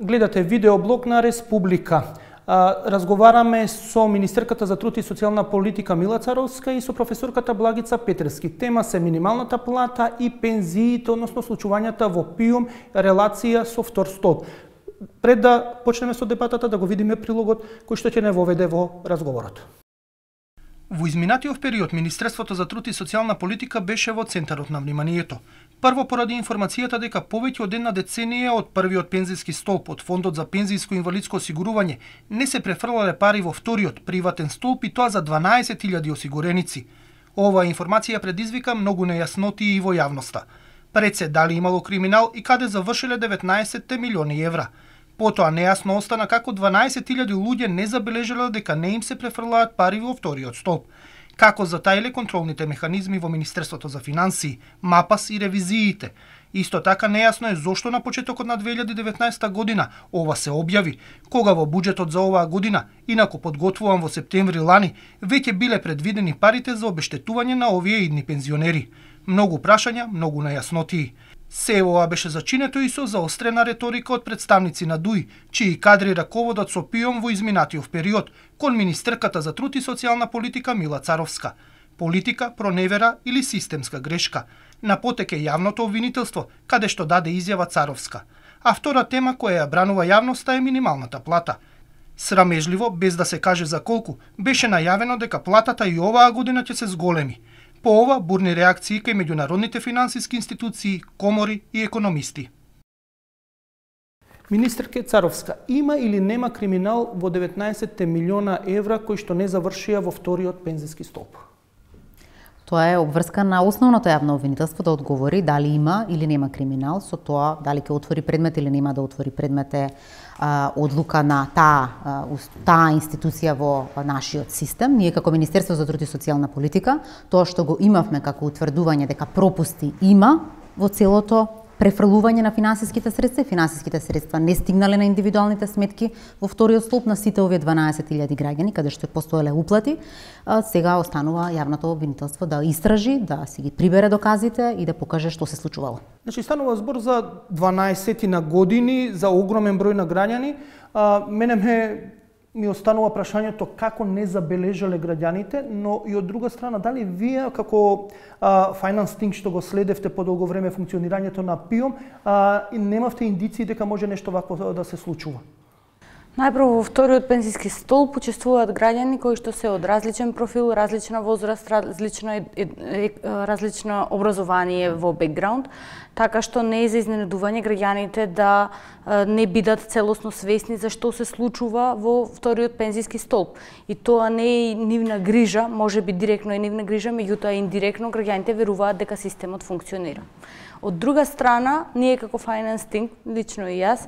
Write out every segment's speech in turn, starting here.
Гледате видеоблог на Республика. Разговараме со министерката за труд и социјална политика Мила Царовска и со професорката Благица Петерски. Тема се минималната плата и пензиите, односно случувањата во ПИУМ, релација со втор столб. Пред да почнеме со дебатата, да го видиме прилогот кој што ќе не воведе во разговорот. Во изминатиот период, Министерството за труд и социјална политика беше во центарот на вниманието. Прво поради информацијата дека повеќе од една деценија од првиот пензиски столб од Фондот за пензиско и инвалидско осигурување не се префрлале пари во вториот приватен столб и тоа за 12.000 осигуреници. Оваа информација предизвика многу нејаснотии и во јавноста. Пред се дали имало криминал и каде завршиле 19 милиони евра. Потоа нејасно остана како 12.000 луѓе не забележале дека не им се префрлаат пари во вториот столб. Како затаиле контролните механизми во Министерството за финансии, МАПАС и ревизиите. Исто така нејасно е зошто на почетокот на 2019 година ова се објави, кога во буџетот за оваа година, инаку подготвуван во септември лани, веќе биле предвидени парите за обештетување на овие идни пензионери. Многу прашања, многу нејаснотии. Се ова беше зачинето и со заострена реторика од представници на ДУИ, чии кадри раководат со ПИУМ во изминатиот период, кон министерката за труд и социјална политика Мила Царовска. Политика, проневера или системска грешка. На потек е јавното обвинителство, каде што даде изјава Царовска. А втора тема која ја бранува јавноста е минималната плата. Срамежливо, без да се каже за колку, беше најавено дека платата и оваа година ќе се зголеми. По ова, бурни реакции кај меѓународните финансиски институции, комори и економисти. Министерке Царовска, има или нема криминал во 19 милиона евра кои што не завршија во вториот пензиски столб? Тоа е обврска на основното јавно обвинителство да одговори дали има или нема криминал, со тоа дали ќе отвори предмет или нема да отвори предмет е одлука на таа институција во нашиот систем. Ние како Министерство за труд и социјална политика, тоа што го имавме како утврдување дека пропусти има во целото префрлување на финансиските средства не стигнале на индивидуалните сметки во вториот столб на сите овие 12.000 граѓани, каде што постоеле уплати, сега останува јавното обвинителство да истражи, да си ги прибере доказите и да покаже што се случувало. Значи, станува збор за 12 на години, за огромен број на граѓани. Мене ми останува прашањето како не забележале граѓаните, но и од друга страна, дали вие како Finance Think што го следевте по долго време функционирањето на ПИУМ, немавте индиции дека може нешто вакво да се случува? Најпрво во вториот пензиски столб учествуваат граѓани кои што се од различен профил, различна возраст, различно образование во бекграунд, така што не е за изненадување граѓаните да не бидат целосно свесни за што се случува во вториот пензиски столб. И тоа не е нивна грижа, може би директно е нивна грижа, меѓутоа индиректно граѓаните веруваат дека системот функционира. Од друга страна, ние како Finance Think, лично и јас,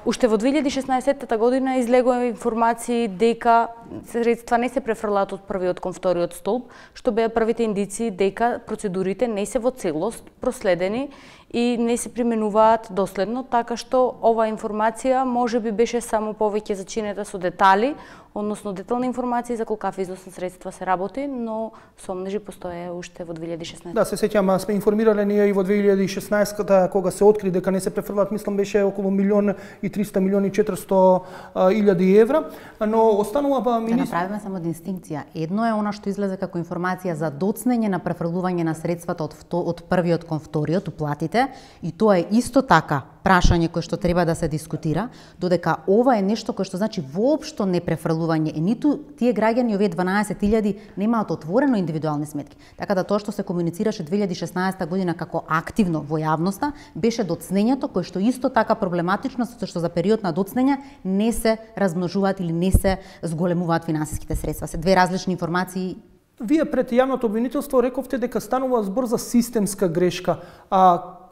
уште во 2016 година излегува информации дека средства не се префрлаат од првиот кон вториот столб, што беа првите индиции дека процедурите не се во целост проследени и не се применуваат доследно, така што ова информација може би беше само повеќе зачинета со детали, односно детални информации за колкав износ на средства се работи, но сомнежи постоje уште во 2016. Да, се сеќам, сме информирале ние и во 2016 кога се откри дека не се префрлаат, мислам беше околу 1.300.400.000 евра, но останува Да направиме само дистинкција. Едно е она што излезе како информација за доцнење на префрлување на средствата од првиот кон вториот, уплатите, и тоа е исто така прашање кое што треба да се дискутира, додека ова е нешто кое што значи воопшто не префрлување, и ниту тие граѓани, овие 12.000, немаат отворено индивидуални сметки. Така да тоа што се комуницираше 2016 година како активно во јавноста, беше доцнењето кое што исто така проблематично, затоа што за период на доцнење не се размножуваат или не се зголемуваат финансиските средства. Се две различни информации. Вие пред јавното обвинителство рековте дека станува збор за системска грешка.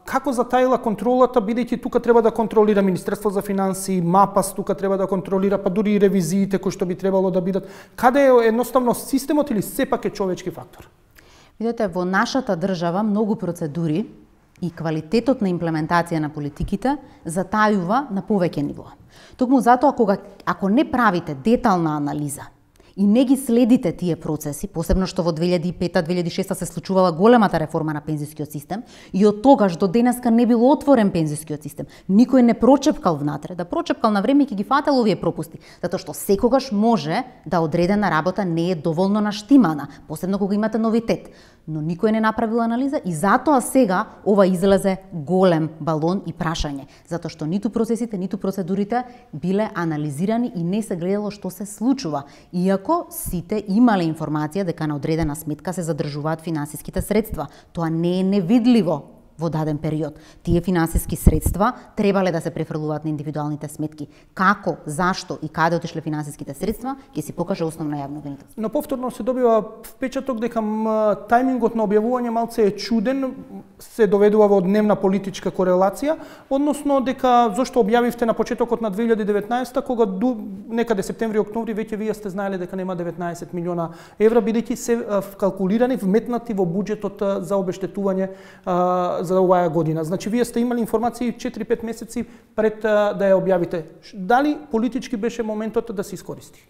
Како затаила контролата, бидејќи тука треба да контролира Министерство за финансии, МАПАС тука треба да контролира, па дури и ревизиите кои што би требало да бидат. Каде е едноставно системот или сепак е човечки фактор? Видете, во нашата држава многу процедури и квалитетот на имплементација на политиките затајува на повеќе ниво. Токму затоа ако не правите детална анализа и не ги следите тие процеси, посебно што во 2005-2006 се случувала големата реформа на пензискиот систем и од тогаш до денеска не бил отворен пензискиот систем. Никој не прочепкал внатре, да прочепкал на време ќе ги фател овие пропусти, затоа што секогаш може да одредена работа не е доволно наштимана, посебно кога имате новитет. Но никој не направил анализа и затоа сега ова излезе голем балон и прашање, затоа што ниту процесите, ниту процедурите биле анализирани и не се гледало што се случува, иако сите имале информација дека на одредена сметка се задржуваат финансиските средства. Тоа не е невидливо во даден период. Тие финансиски средства требале да се префрлуваат на индивидуалните сметки. Како, зашто и каде отишле финансиските средства, ќе си покаже основно јавно обвинителство. Но повторно се добива впечаток дека тајмингот на објавување малце е чуден, се доведува во дневна политичка корелација, односно дека зошто објавивте на почетокот на 2019 кога некаде септември-октомври веќе вие сте знаеле дека нема 19 милиона евра, бидејќи се вкалкулирани, вметнати во буџетот за обештетување за оваа година. Значи, вие сте имали информации 4-5 месеци пред да ја објавите. Дали политички беше моментот да се искористи?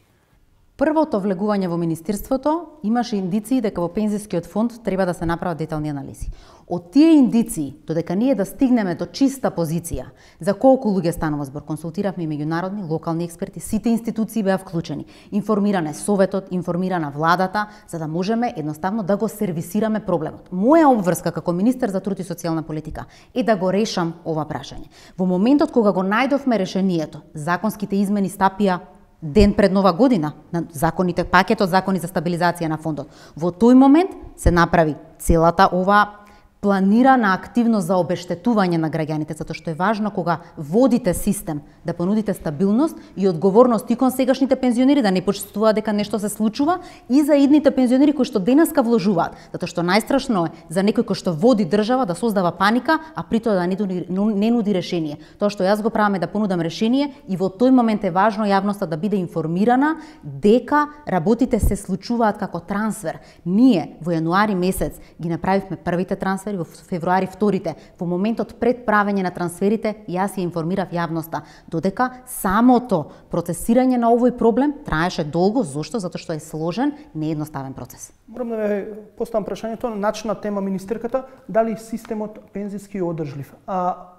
Првото влегување во Министерството имаше индиции дека во пензискиот фонд треба да се направат детални анализи. Од тие индиции, додека ние да стигнеме до чиста позиција за колку луѓе станува збор, консултиравме и меѓународни, локални експерти, сите институции беа вклучени. Информиране Советот, информирана владата, за да можеме едноставно да го сервисираме проблемот. Моја обврска како министер за труд и социјална политика е да го решам ова прашање. Во моментот кога го најдовме решението, законските измени стапија ден пред Нова година на законите, пакетот закони за стабилизација на фондот. Во тој момент се направи целата ова планирана активност за обештетување на граѓаните, затоа што е важно кога водите систем да понудите стабилност и одговорност и кон сегашните пензионери да не почувствуваат дека нешто се случува и за идните пензионери кои што денеска вложуваат, затоа што најстрашно е за некој кој што води држава да создава паника, а при тоа да не нуди решение. Тоа што јас го правам е да понудам решение и во тој момент е важно јавноста да биде информирана дека работите се случуваат како трансфер. Ние во јануари месец ги направивме првите трансфери, во февруари вторите. Во моментот пред правење на трансферите, јас ја информирав јавноста, додека самото процесирање на овој проблем траеше долго. Зошто? Затоа што е сложен, неедноставен процес. Морам да ве поставам прашањето, начна тема министерката, дали системот пензиски е одржлив?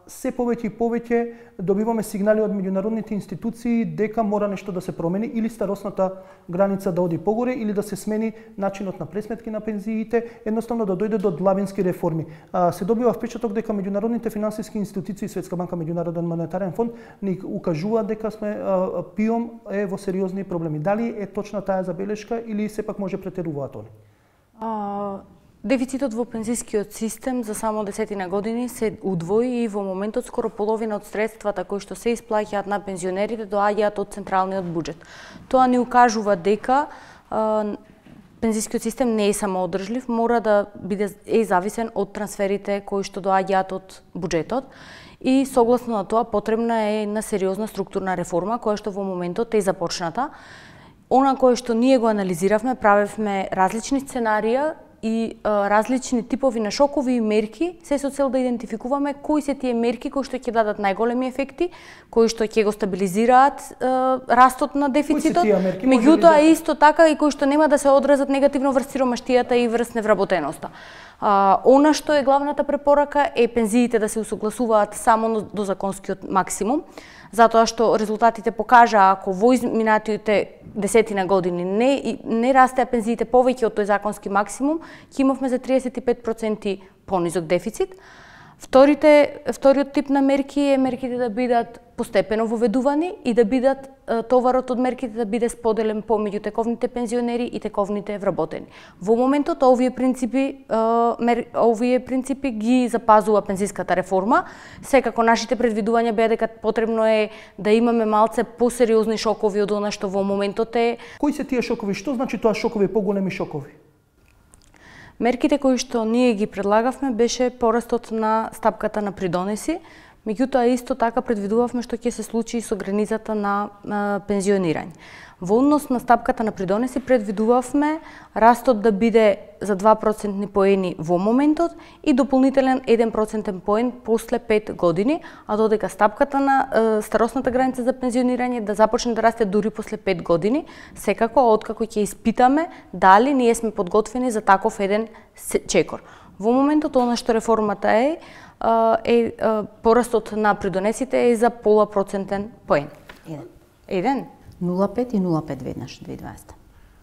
Се повеќе и повеќе добиваме сигнали од меѓународните институции дека мора нешто да се промени, или старосната граница да оди погоре, или да се смени начинот на пресметки на пензиите, едноставно да дојде до длабински реформи. Се добива впечаток дека меѓународните финансиски институции, Светска банка, Меѓународен монетарен фонд, ни укажуваат дека сме ПИОМ е во сериозни проблеми. Дали е точна таа забелешка или сепак може претеруваат они? Дефицитот во пензискиот систем за само 10 години се удвои и во моментот скоро половина од средствата кои што се исплаќаат на пензионерите доаѓаат од централниот буџет. Тоа ни укажува дека пензискиот систем не е самоодржлив, мора да биде зависен од трансферите кои што доаѓаат од буџетот и согласно на тоа потребна е една сериозна структурна реформа која што во моментот е започната. Она кое што ние го анализиравме, правевме различни сценарија и различни типови на шокови и мерки, се со цел да идентификуваме кои се тие мерки кои што ќе дадат најголеми ефекти, кои што ќе го стабилизираат растот на дефицитот, меѓутоа исто така и кои што нема да се одразат негативно врз сиромаштијата и врз невработеноста. Она што е главната препорака е пензиите да се усогласуваат само до законскиот максимум, затоа што резултатите покажа ако во изминатите 10 години не растеа пензиите повеќе од тој законски максимум, ќе имавме за 35% понизок дефицит. Вториот тип на мерки е мерките да бидат постепено воведувани и да бидат товарот од мерките да биде споделен помеѓу тековните пензионери и тековните вработени. Во моментот овие принципи ги запазува пензиската реформа. Секако нашите предвидувања беа дека потребно е да имаме малце посериозни шокови од она што во моментот е. Кои се тие шокови? Што значи тоа шокови, поголеми шокови? Мерките кои што ние ги предлагавме беше порастот на стапката на придонеси, меѓутоа исто така предвидувавме што ќе се случи со границата на пензионирање. Во однос на стапката на придонеси предвидувавме растот да биде за 2% поени во моментот и дополнителен 1% поен после 5 години, а додека стапката на старосната граница за пензионирање да започне да расте дури после 5 години, секако откако ќе испитаме дали ние сме подготвени за таков еден чекор. Во моментот она што реформата е порастот на придонесите е за 0,5% поен. Еден? 0,5 и 0,5 веднаш 2020.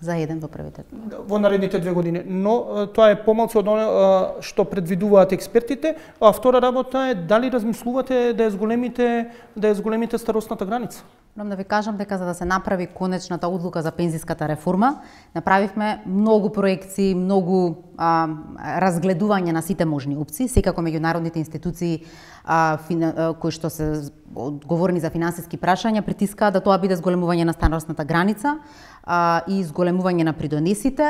За еден во првите. Во наредните 2 години. Но тоа е помалку од оно што предвидуваат експертите. А втора работа е дали размислувате да ја зголемите старосната граница? Морам да ви кажам дека за да се направи конечната одлука за пензиската реформа, направивме многу проекции, многу разгледување на сите можни опции, секако меѓународните институции кои што се одговорни за финансиски прашања притискаат да тоа биде зголемување на старосната граница и зголемување на придонесите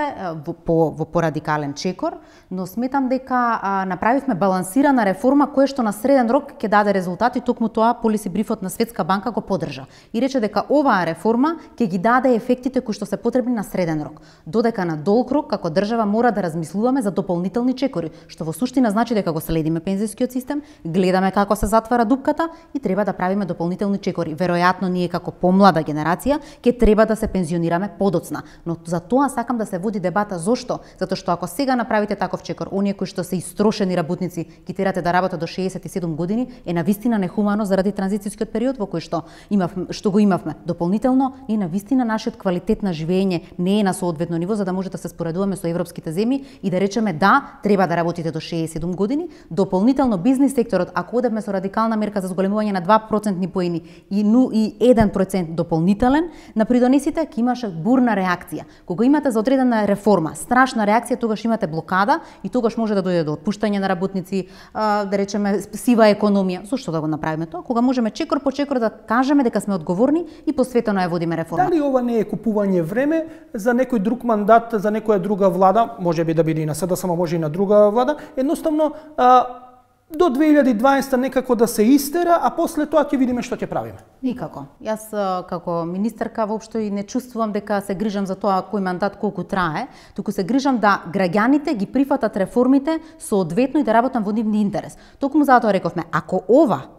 во порадикален чекор, но сметам дека направивме балансирана реформа која што на среден рок ќе даде резултати, токму тоа полиси брифот на Светска банка го поддржа и рече дека оваа реформа ќе ги даде ефектите кои што се потребни на среден рок. Додека на долг рок како држава мора да размислуваме за дополнителни чекори, што во суштина значи дека го следиме пензискиот систем, гледаме како се затвара дупката и треба да правиме дополнителни чекори. Веројатно ние како помлада генерација ќе треба да се пензионираме подоцна, но за тоа сакам да се води дебата. Зошто? Затоа што ако сега направите таков чекор, оние кои што се истрошени работници ги терате да работат до 67 години, е навистина нехумано заради транзицијскиот период во кој што го имавме. Дополнително и навистина нашиот квалитет на живење не е на соодветно ниво за да може да се споредуваме со европските земји и да речеме да, треба да работите до 67 години. Дополнително бизнис секторот, ако одевме со радикална мерка за зголемување на 2% поени и 1% дополнителен на придонесите, ќе имаше бурна реакција. Кога имате за одредена реформа, страшна реакција, тогаш имате блокада и тогаш може да дојде до отпуштање на работници, да речеме сива економија. Зошто да го направиме тоа? Кога можеме чекор по чекор да кажеме дека сме одговорни и посветено ја водиме реформа. Дали ова не е купување време за некој друг мандат, за некоја друга влада, можеби да биде и на СДСМ, може и на друга влада, едноставно до 2020 некако да се истера, а после тоа ќе видиме што ќе правиме? Никако. Јас како министерка воопшто и не чувствувам дека се грижам за тоа кој мандат колку трае, туку се грижам да граѓаните ги прифатат реформите соодветно и да работам во нивни интерес. Токму затоа рековме, ако ова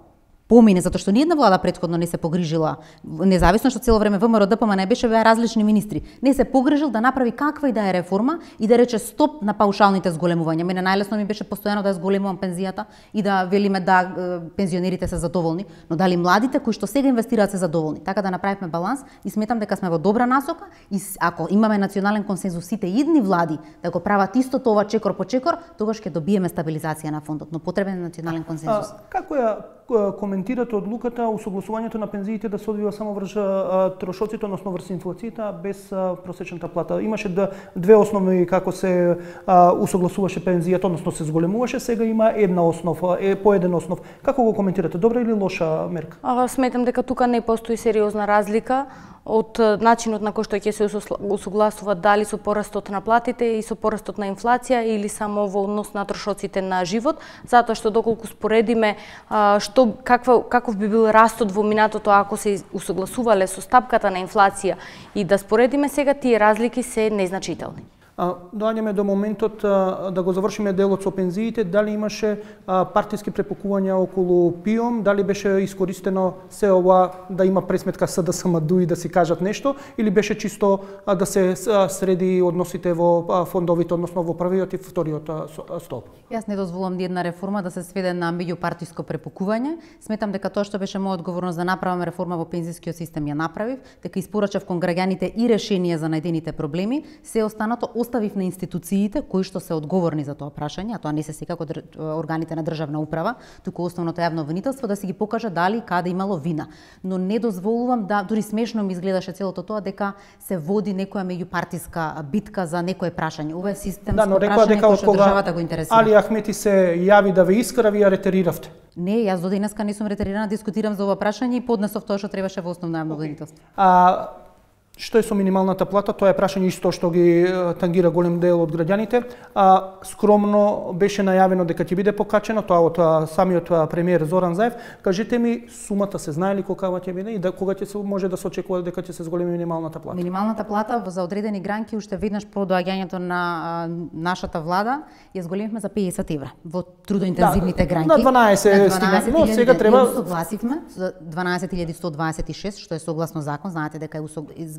помине, затоа што ниедна влада претходно не се погрижила, независно што цело време ВМРО ДПМН не беше беа различни министри, не се погрижил да направи каква и да е реформа и да рече стоп на паушалните зголемувања. Мене најлесно ми беше постојано да зголемувам пензијата и да велиме да пензионерите се задоволни, но дали младите кои што сега инвестираат се задоволни. Така да направивме баланс и сметам дека сме во добра насока и ако имаме национален консензус сите идни влади да го прават исто тоа чекор по чекор, тогаш ќе добиеме стабилизација на фондот, но потребен е национален консензус. Како ја коментирате одлуката усогласувањето на пензиите да се одвива само врз трошоците, односно врз инфлацијата, без просечната плата? Имаше две основи како се усогласуваше пензијата, односно се зголемуваше, сега има една основа, по еден основ. Како го коментирате? Добра или лоша мерка? Сметам дека тука не постои сериозна разлика од начинот на кој што ќе се усогласува дали со порастот на платите и со порастот на инфлација или само во однос на трошоците на живот, затоа што доколку споредиме каков би бил растот во минатото ако се усогласувале со стапката на инфлација и да споредиме сега, тие разлики се незначителни. Доаѓаме до моментот да го завршиме делот со пензиите. Дали имаше партиски препокувања околу ПИОМ, дали беше искористено се ова да има пресметка СДСМ-ДУ и да си кажат нешто, или беше чисто да се среди односите во фондовите, односно во првиот и вториот столб? Јас не дозволам ни една реформа да се сведе на меѓупартиско препокување. Сметам дека тоа што беше моја одговорност да направам реформа во пензискиот систем ја направив, дека испорачав кон граѓаните и решенија за најдените проблеми, се останато оставив на институциите кои што се одговорни за тоа прашање, а тоа не се секако органите на државна управа, туку основното јавно обвинителство да си ги покаже дали каде имало вина. Но не дозволувам да, дури смешно ми изгледаше целото тоа дека се води некоја меѓупартиска битка за некое прашање. Ова е системско прашање кој што државата го интересира. Али Ахмети се јави да ве искара, вие ретериравте. Не, јас до денеска не сум ретерирана, дискутирам за ова прашање и поднесов тоа што требаше во основно јавно обвинителство. Што е со минималната плата? Тоа е прашање исто што ги тангира голем дел од граѓаните. Скромно беше најавено дека ќе биде покачено, тоа од самиот премиер Зоран Заев. Кажете ми, сумата се знае ли колкава ќе биде и кога ќе се може да се очекува дека ќе се зголеми минималната плата? Минималната плата за одредени гранки уште веднаш по доаѓањето на нашата влада ја зголемивме за 50 евра во трудоинтензивните гранки. На 12 стигна, но сега треба согласивме за 12.126, што е согласно закон. Знаете дека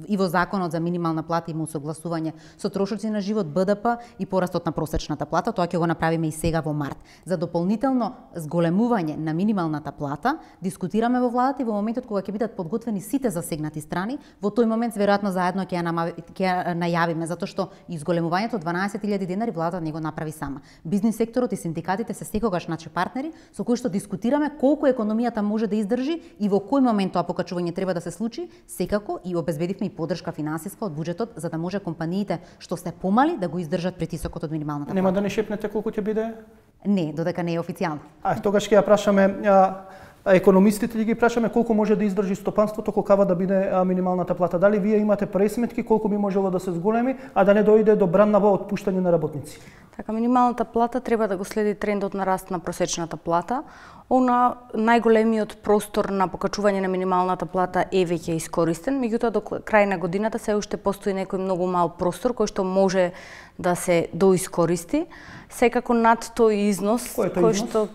и во законот за минимална плата има усогласување со трошоци на живот, БДП и порастот на просечната плата. Тоа ќе го направиме и сега во март. За дополнително зголемување на минималната плата дискутираме во владата и во моментот кога ќе бидат подготвени сите засегнати страни, во тој момент веројатно заедно ќе ја најавиме, затоа што изголемувањето 12.000 денари владата не го направи сама. Бизнис секторот и синдикатите се секогаш наши партнери со кои што дискутираме колку економијата може да издржи и во кој момент тоа покачување треба да се случи, секако и обезбедивме и подршка финансиска од буџетот за да може компаниите што се помали да го издржат притисокот од минималната плата. Нема да не шепнете колку ќе биде? Не, додека не е официјално. Тогаш ќе ја прашаме економистите, ги прашаме колку може да издржи стопанството, колкава да биде минималната плата. Дали вие имате пресметки колку би можело да се зголеми, а да не дојде до браннаво отпуштање на работници? Така, минималната плата треба да го следи трендот на раст на просечната плата. Она најголемиот простор на покачување на минималната плата е веќе искористен, меѓутоа до крај на годината се уште постои некој многу мал простор кој што може да се доискористи. Секако над тој износ кој што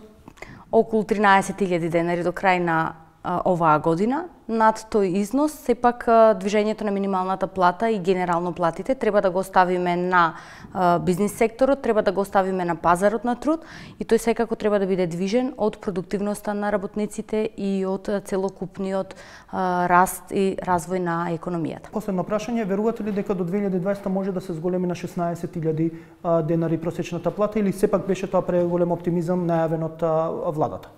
околу 13.000 денари до крај на оваа година, над тој износ, сепак движењето на минималната плата и генерално платите треба да го оставиме на бизнис секторот, треба да го оставиме на пазарот на труд и тој секако треба да биде движен од продуктивноста на работниците и од целокупниот раст и развој на економијата. Последно прашање, верувате ли дека до 2020 може да се зголеми на 16.000 денари просечната плата или сепак беше тоа преголем оптимизам најавен од владата?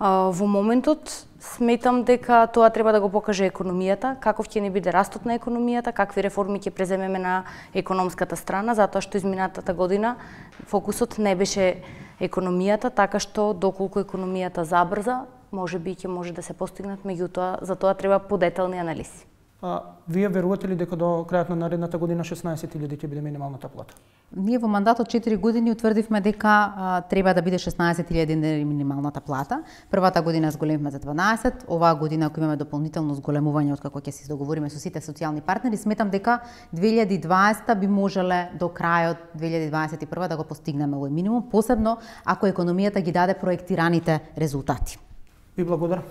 Во моментот сметам дека тоа треба да го покаже економијата, каков ќе ни биде растот на економијата, какви реформи ќе преземеме на економската страна, затоа што изминатата година фокусот не беше економијата, така што доколку економијата забрза, можеби ќе може да се постигнат, меѓутоа за тоа треба подетални анализи. Вие верувате ли дека до крајот на наредната година 16.000 ќе биде минималната плата? Ние во мандатот 4 години утврдивме дека треба да биде 16.000 денари минималната плата. Првата година зголемивме за 12, оваа година ако имаме дополнително зголемување откако ќе се договориме со сите социјални партнери, сметам дека 2020 би можеле до крајот 2021 да го постигнеме овој минимум, посебно ако економијата ги даде проектираните резултати. Ви благодарам.